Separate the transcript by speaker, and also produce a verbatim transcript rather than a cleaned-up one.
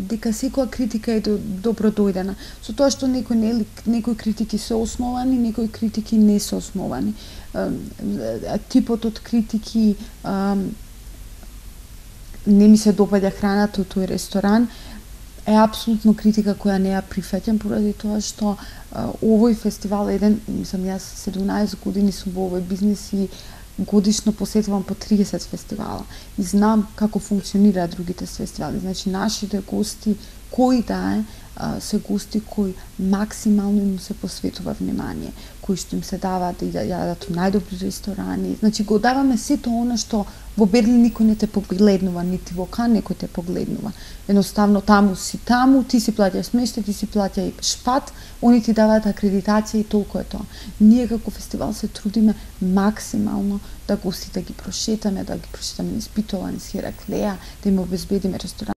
Speaker 1: дека секоја критика е добро дојдена. Со тоа што некои не, некои критики се основани, некои критики не се основани. Типот од критики не ми се допаѓа храната од тој ресторан е апсолутно критика која не ја прифаќам поради тоа што овој фестивал еден, мислам јас седумнаесет години сум во овој бизнес и годишно посетувам по триесет фестивала и знам како функционираат другите фестивали. Значи нашите гости, кои да е, се гости кои максимално им се посветува внимание, кои што им се даваат да јадат во најдобри ресторани. Значи го даваме сето она што во Берлин никој не те погледнува, нити во Кан некој те погледнува. Едноставно таму си таму, ти си плаќаш смештај, ти си плаќа и шпат, они ти даваат акредитација и толку е тоа. Ние како фестивал се трудиме максимално да гостите ги прошетаме, да ги прошетаме низ Битола, низ Хераклеја, да им обезбедиме ресторан